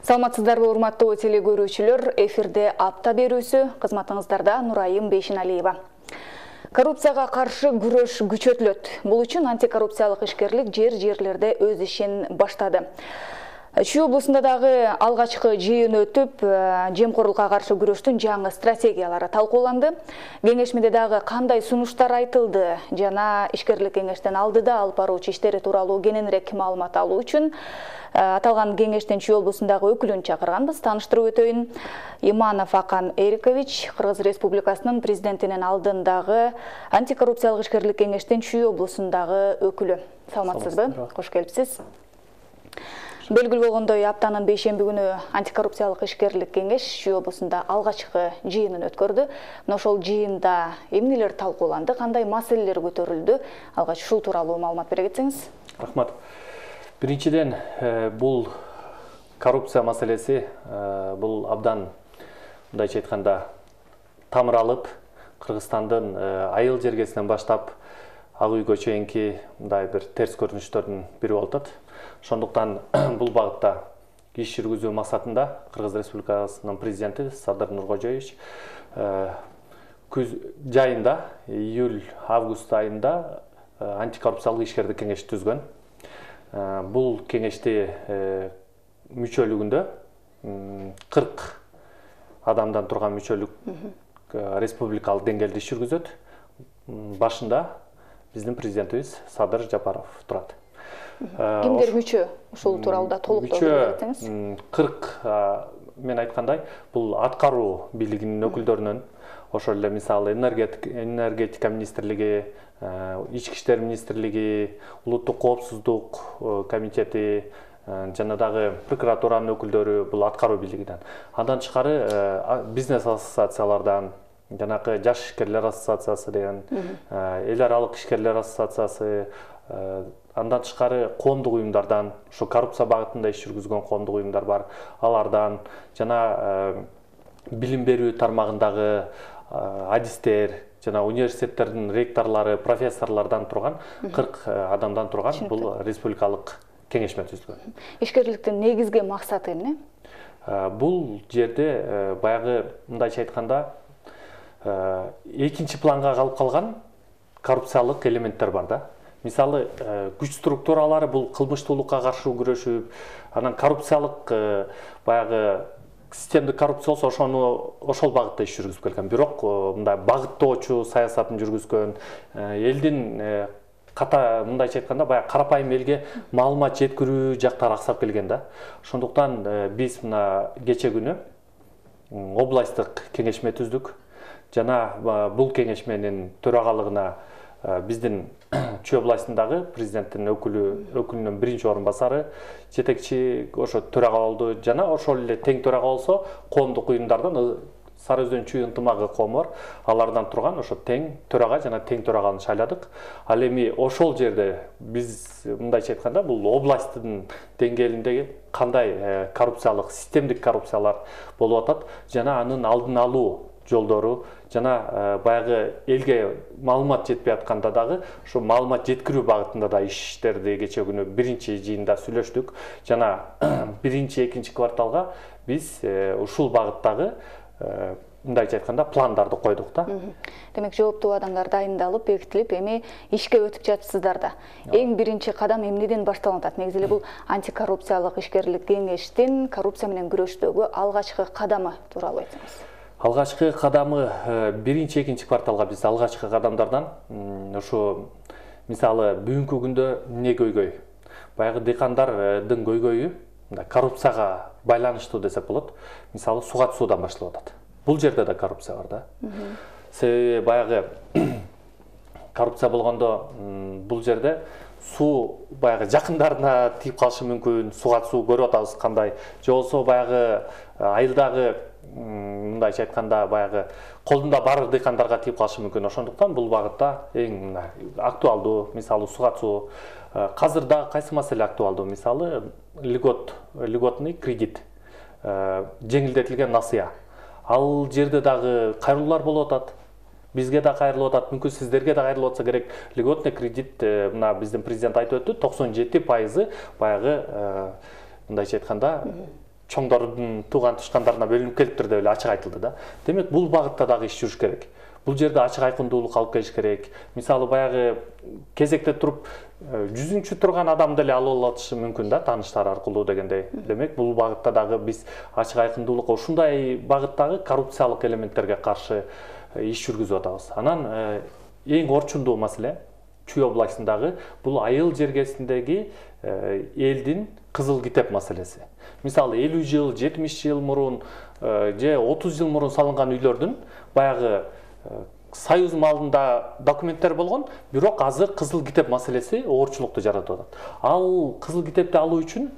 Саламатсыздарбы, урматтуу телекөрүүчүлөр, эфирде апта берүүсү, кызматыңыздарда Нурайым Бейшеналиева. Коррупцияга каршы күрөш күчөтүлөт. Бул үчүн антикоррупциялык ишкерлик жерлерде өз ишин баштады. Чүй облусунда дагы алгачкы жыйын өтүп, жемкорлукка каршы күрөштүн жаңы стратегиялары талкууланды. Кеңешмеде дагы кандай сунуштар айтылды жана ишкерлик кеңештин алдыда алып баруучу иштери тууралуу кененирээк маалымат алуу үчүн аталган кеңештин Чүй облусундагы өкүлүн чакырганбыз. Тааныштырып өтөйүн. Иманов Акан Эрикович, Кыргыз Республикасынын президентинин алдындагы антикоррупциялык ишкерлик кеңештин Чүй облусундагы өкүлү. Саламатсызбы? Кош келипсиз. Белгилүү болгондой, аптанын бейшемби күнү антикоррупциялык ишкерлик кеңеш Чүй облусунда алгачкы жыйынын өткөрдү. Мына ошол жыйында эмнелер талкууланды, кандай маселелер көтөрүлдү? Алгач ушул тууралуу маалымат бере кетсеңиз. Рахмат. Биринчиден, бул коррупция маселеси бул абдан, мындайча айтканда, тамыр алып, Кыргызстандын айыл жергесинен баштап ак үйгө чейинки мындай бир терс көрүнүштөрдүн бири болуп атат. Ошондуктан бул багытта иш жүргүзүү максатында Кыргыз Республикасынын президенти Садыр Нуркожоевич күз жайында, июль-август айында антикоррупциялык ишкерлик кеңеш түзгөн. Бул кеңешти мүчөлүгүндө 40 адамдан турган мүчөлүк республикалык деңгээлде иш жүргүзөт. Башында биздин президентибиз Садыр Жапаров турат. Кимдер мүчө? Ушул тууралуу толуктоо берсеңиз. 40 мен айткандай, бул аткаруу бийлигинин өкүлдөрүнөн, ошол эле мисалы энергетика министрлиги, ички иштер министрлиги, улуттук коопсуздук комитети жана дагы прокуратуранын өкүлдөрү бул аткаруу бийлигинен. Андан тышкары бизнес ассоциациялардан, жанакы жаш ишкерлер ассоциациясы деген, эл аралык ишкерлер ассоциациясы, андан тышкары коомдук уюмдардан, ошо коррупция багытында иш жүргүзгөн коомдук уюмдар бар, алардан жана билим берүү тармагындагы адистер, жана университеттердин ректорлору, профессорлордон турган 40 адамдан турган бул республикалык кеңешме түзүлгөн. Ишкерликтин негизги максаты эмне? Бул жерде баягы мындайча айтканда экинчи планга калып калган коррупциялык элементтер бар да. Мисалы, күч структуралары бул кылмыштуулукка каршы күрөшүп, анан коррупциялык баягы системдик коррупция болсо ошол багытта иш жүргүзүп келген. Бирок мындай багыттоочу саясатын жүргүзгөн, элдин мындайча айтканда баягы карапайым элге маалымат жеткирүү жактары аксап келген да. Ошондуктан биз мына кече күнү областтык кеңешме түздүк. Жана бул кеңешменин төрагалыгына биздин Чүй областындагы президенттин өкүлүнүн биринчи орун басары, жетекчи ошо төрага болду. Жана ошол эле тең төрага болсо, коомдук уюмдардан Сары Өзөн Чүй ынтымагы коому бар, алардан турган ошо тең төрага жана тең төраганы шайладык. Ал эми ошол жерде биз мындайча айтканда бул областтын деңгээлиндеги кандай коррупциялык, системдик коррупциялар болуп атат жана анын алдын алуу жолдору, жана баягы элге маалымат жетпей атканда дагы ошо маалымат жеткирүү багытында да иштерди кече күнү биринчи жыйында сүйлөштүк. Жана биринчи, экинчи кварталга биз ушул багыттагы мындайча айтканда пландарды койдук да. Демек, жооптуу адамдар дайындалып, бекитилип, эми ишке өтүп жатыпсыздар да. Эң биринчи кадам эмнеден башталып атат? Негизи эле бул антикоррупциялык ишкерлик кеңештин коррупция менен күрөштөгү алгачкы кадамы тууралуу айтсаңыз. Алгачкы кадамы биринчи, экинчи кварталга биз алгачкы кадамдардан ошо мисалы бүгүнкү күндө эмне көйгөй? Баягы дыйкандардын көйгөйү коррупцияга байланыштуу десек болот. Мисалы суга суудан башталып атат. Бул жерде да коррупция бар да. Себеби баягы коррупция болгондо бул жерде суу баягы жакындарына тийип калышы мүмкүн, суга суу көрүп атабыз кандай. Же болсо баягы айылдагы мындайча айтканда баягы колунда бар дыйкандарга тийип калышы мүмкүн. Ошондуктан бул багытта эң актуалдуу, мисалы суга суу. Казыр да кайсы маселе актуалдуу? Мисалы льготный кредит, жеңилдетилген насыя. Ал жерде дагы кайрылуулар болуп атат. Бизге да кайрылып атат, мүмкүн сиздерге да кайрылып атса керек. Льготный кредит, мына биздин президент айтып өттү, 97% баягы мындайча айтканда чоңдордун тууган тушкандарына бөлүнүп келиптир деп эле ачык айтылды да. Демек бул багытта дагы иш жүрүш керек. Бул жерде ачык айкындуулук алып келиш керек. Мисалы баягы кезекте туруп 100-чү турган адам деле алып алышы мүмкүн да, тааныштар аркылуу дегендей. Демек бул багытта дагы биз ачык айкындуулук ушундай багыттагы коррупциялык элементтерге каршы иш жүргүзүп атабыз. Анан эң орчундуу маселе Чүй областындагы бул айыл жергесиндеги элдин кызыл китеп маселеси. Мисалы 50 жыл, 70 жыл мурун же 30 жыл мурун салынган үйлөрдүн баягы союз малында документтер болгон, бирок азыр кызыл китеп маселеси оорчулукту жаратып атат. Ал кызыл китепти алуу үчүн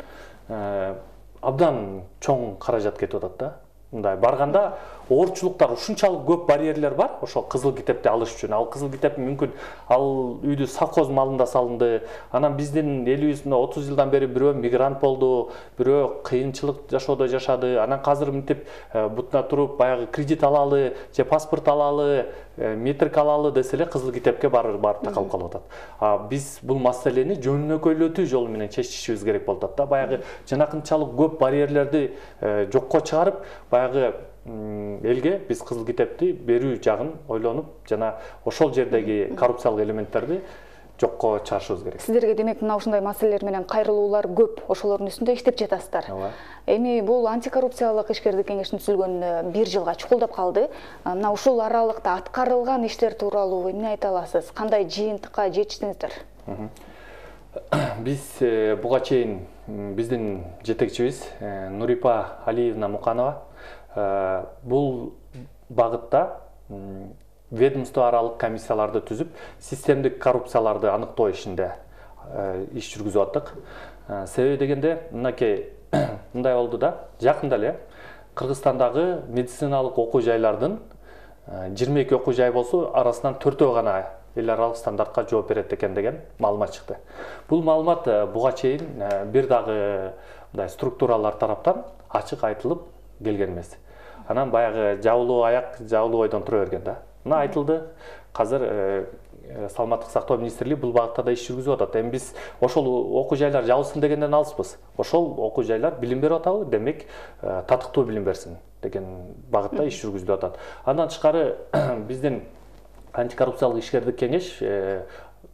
абдан чоң каражат кетип атат да. Мындай барганда оорчулуктар ушунчалык көп барьерлер бар ошо кызыл китепти алыш үчүн. Ал кызыл китеп мүмкүн ал үйдү совхоз малында салынды. Анан биздин элибиз 30 жылдан бери бирөө мигрант болду, бирөө кыйынчылык жашоодо жашады. Анан казыр мынтип бутуна туруп баягы кредит алалы же паспорт алалы, метрик алалы десе эле кызыл китепке барып такалып калып атат. Биз бул маселени жөнөкөйлөтүү жолу менен чечишибиз керек болуп атат да. Баягы жанакынчалык көп барьерлерди жокко чыгарып, баягы элге биз кызыл китепти берүү жагын ойлонуп, жана ошол жердеги коррупциялык элементтерди жокко чыгарышыбыз керек. Сиздерге демек мына ушундай маселелер менен кайрылуулар көп, ошолордун үстүндө иштеп жатасыздар. Эми бул антикоррупциялык ишкердик кеңештин түзүлгөнүнө 1 жылга чукулдап калды. Мына ушул аралыкта аткарылган иштер тууралуу эмне айта аласыз? Кандай жыйынтыкка жетиштиңиздер? Биз буга чейин биздин жетекчибиз Нурипа Алиевна Муканова бул багытта ведомство аралык комиссияларды түзүп, системдик коррупцияларды аныктоо ишинде иш жүргүзүп аттык. Себеби дегенде, мынакей мындай болду да, жакында эле Кыргызстандагы медициналык окуу жайлардын 22 окуу жай болсо, арасынан 4-өө гана эл аралык стандартка жооп берет экен деген маалымат чыкты. Бул маалымат буга чейин бир дагы мындай структуралар тараптан ачык айтылып келген эмес. Анан баягы жабылуу аяк, жабылуу ойдон тура берген да. Мына айтылды, казыр Саламаттык сактоо министрлиги бул багытта да иш жүргүзүп атат. Эми биз ошол окуу жайлар жабылсын дегенден алыспыз. Ошол окуу жайлар билим берип атабы, демек татыктуу билим берсин деген багытта иш жүргүзүлүп атат. Андан тышкары биздин антикоррупциялык ишкердик кеңеш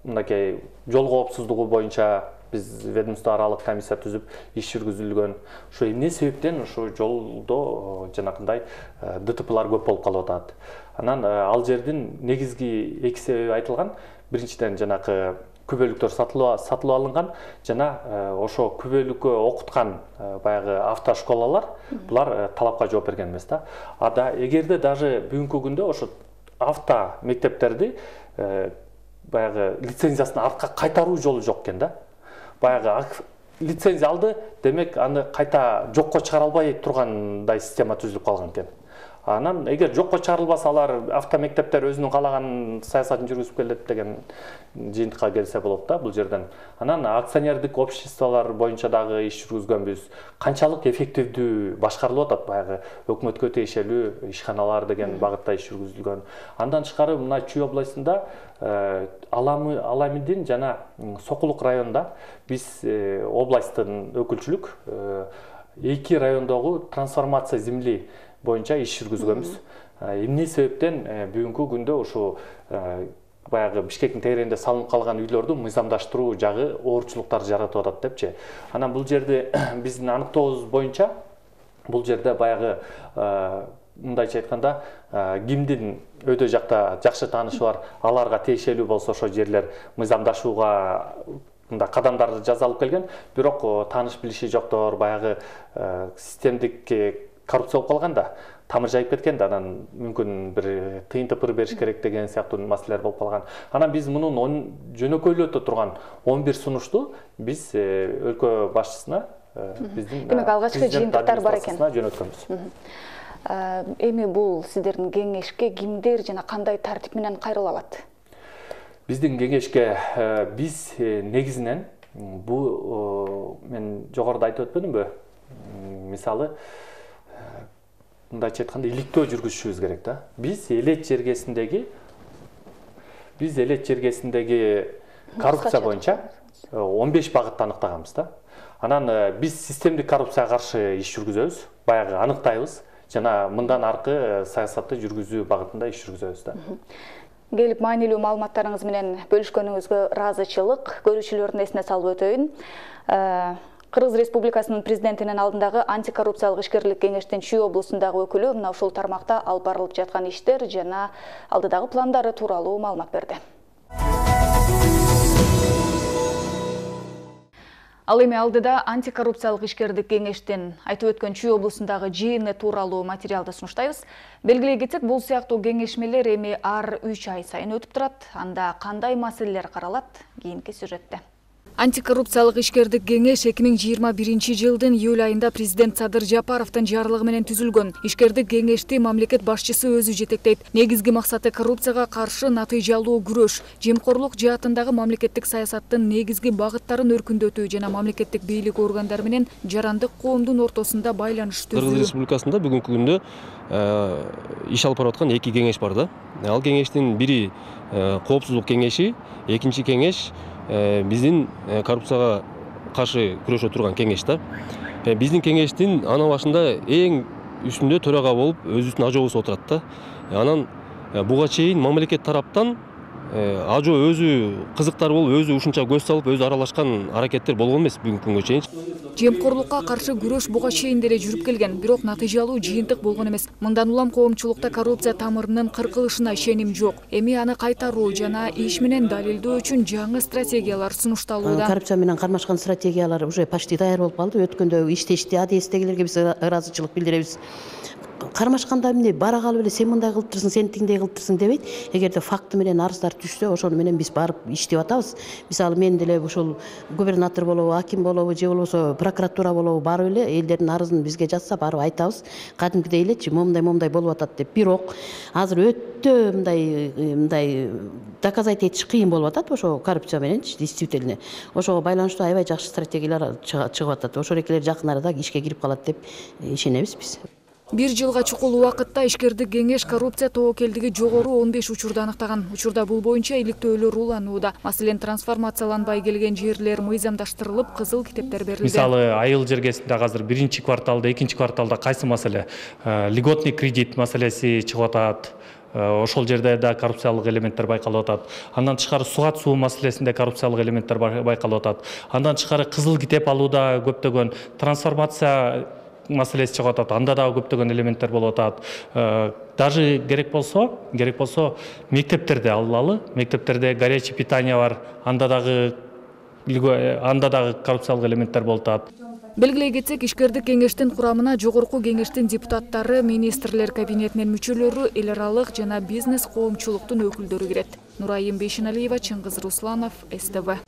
мынакей жол коопсуздугу боюнча биз ведомство аралык комиссия түзүп иш жүргүзүлгөн. Ошо эмне себептен ошо жолдо жанакындай ДТПлар көп болуп калып атат. Анан ал жердин негизги 2 себеби айтылган. Биринчиден жанакы күбөлүктөр сатылып алынган, жана ошо күбөлүккө окуткан баягы автошколалар булар талапка жооп берген эмес да. Ада эгерде даже бүгүнкү күндө ошо авто мектептерди баягы лицензиясын артка кайтаруу жолу жок экен да. Баягы лицензия алды, демек аны кайта жокко чыгара албай тургандай система түзүлүп калган экен. Анан эгер жокко чыгарылбаса, алар автомектептер өзүнүн каалаган саясатын жүргүзүп келет деген жыйынтыкка келсе болот да бул жерден. Анан акционердик обществолор боюнча дагы иш жүргүзгөнбүз. Канчалык эффективдүү башкарылып атат баягы өкмөткө тиешелүү ишканалар деген багытта иш жүргүзүлгөн. Андан тышкары мына Чүй областында Аламидин жана Сокулук районунда биз областтын өкүлчүлүк 2 райондогу трансформация земли боюнча иш жүргүзгөнбүз. Эмне себептен бүгүнкү күндө ушу баягы Бишкектин тегерегинде салынып калган үйлөрдү мыйзамдаштыруу жагы оорчулуктар жаратып атат депчи. Анан бул жерде биздин аныктообуз боюнча бул жерде баягы мындайча айтканда кимдин өйдө жакта жакшы таанышы бар, аларга тиешелүү болсо ошо жерлер мыйзамдашууга мындай кадамдар жасалып келген, бирок тааныш билиши жоктор, баягы системдик коррупция болуп калганда, тамыр жайып кеткен да, анан мүмкүн бир тыйын тыпыр бериш керек деген сыяктуу маселелер болуп калган. Анан биз мунун жөнөкөйлөтө турган 11 сунушту биз өлкө башчысына биздин демек алгачкы жыйынтыктар бар экен. Жөнөткөнбүз. Эми бул сиздердин кеңешке кимдер жана кандай тартип менен кайрыла алат? Биздин кеңешке биз негизинен бул мен жогоруда айтып өтпөдүмбү? Мисалы мындайча айтканда иликтөө жүргүзүшүбүз керек да. Биз элет жергесиндеги коррупция боюнча 15 багытты аныктаганбыз да. Анан биз системдик коррупцияга каршы иш жүргүзөбүз, баягы аныктайбыз жана мындан аркы саясатты жүргүзүү багытында иш жүргүзөбүз да. Келип маанилүү маалыматтарыңыз менен бөлүшкөнүңүзгө ыраазычылык. Көрүүчүлөрдүн эсине салып өтөйүн. Кыргыз Республикасынын президентинин алдындагы антикоррупциялык ишкерлик кеңештин Чүй облусундагы өкүлү мына ушул тармакта алып барылып жаткан иштер жана алдыдагы пландары тууралуу маалымат берди. Ал эми алдыда антикоррупциялык ишкерлик кеңештин айтып өткөн Чүй облусундагы жыйыны тууралуу материалды сунуштайбыз. Белгилей кетсек, бул сыяктуу кеңешмелер эми ар 3 ай сайын өтүп турат. Анда кандай маселелер каралат? Кийинки сюжетте. Антикоррупциялык ишкерлик кеңеш 2021 жылдын июль айында президент Садыр Жапаровдун жарлыгы менен түзүлгөн. Ишкерлик кеңешти мамлекет башчысы өзү жетектейт. Негизги максаты коррупцияга каршы натыйжалуу күрөш, жемкорлук жаатындагы мамлекеттик саясаттын негизги багыттарын өркүндөтүү жана мамлекеттик бийлик органдары менен жарандык коомдун ортосунда байланыш түзүү. Кыргыз Республикасында бүгүнкү күндө иш алып бараткан 2 кеңеш бар да. Ал кеңештин бири коопсуздук кеңеши, экинчи кеңеш биздин коррупцияга каршы күрөшө турган кеңеш да. Биздин кеңештин ана башында эң үстүндө төрага болуп өзүбүздүн ажообуз отурат да. Анан буга чейин мамлекет тараптан ажо өзү кызыктар болуп, өзү ушунча көз салып, өзү аралашкан аракеттер болгон эмес бүгүнкү күнгө чейин. Жемкорлукка каршы күрөш буга чейин деле жүрүп келген, бирок натыйжалуу жыйынтык болгон эмес. Мындан улам коомчулукта коррупция тамырынын кыркылышына ишеним жок. Эми аны кайтаруу жана иш менен далилдөө үчүн жаңы стратегиялар сунушталууда. Коррупция менен кармашкан стратегиялар уже почти даяр болуп калды. Өткөндө иштешти, адестегилерге биз ыраазычылык билдиребиз. Кармашканда эмне бара калып эле сен мындай кылыптырсың, сен тиңдей кылыптырсың дебейт. Эгерде факты менен арыздар түшсө, ошону менен биз барып иштеп атабыз. Мисалы мен деле ушул губернатор болобу, аким болобу, же болбосо прокуратура болобу барып эле элдердин арызын бизге жатса барып айтабыз. Кадимкидей элечи момундай болуп атат деп. Бирок азыр өтө мындай доказать этиш кыйын болуп атат ошо коррупция мененчи действительно. Ошого байланыштуу аябай жакшы стратегиялар чыгып атат. Ошол экелер жакын арада ишке кирип калат деп ишенебиз биз. 1 жылга чукул убакытта ишкерлик кеңеш коррупция тобокелдиги жогору 15 учурду аныктаган. Учурда бул боюнча иликтөөлөр уланууда. Маселен, трансформацияланбай келген жерлер мыйзамдаштырылып, кызыл китептер берилди. Мисалы, айыл жергесинде азыр 1-кварталда, 2-кварталда кайсы маселе? Льготный кредит маселеси чыгып атат. Ошол жерде да коррупциялык элементтер байкалып атат. Андан тышкары суу маселесинде коррупциялык элементтер байкалып атат. Андан тышкары кызыл китеп алууда көптөгөн трансформация маселеси чыгып атат. Анда дагы көптөгөн элементтер болуп атат. Даже керек болсо мектептерде алалы, мектептерде горячий питание бар. Анда дагы коррупциялык элементтер болуп атат. Белгилей кетсек, ишкерлик кеңештин курамына жогорку кеңештин депутаттары, министрлер кабинетинин мүчөлөрү, эл аралык жана бизнес коомчулуктун өкүлдөрү кирет. Нурайым Бейшеналиева, Чыңгыз Русланов, СТВ.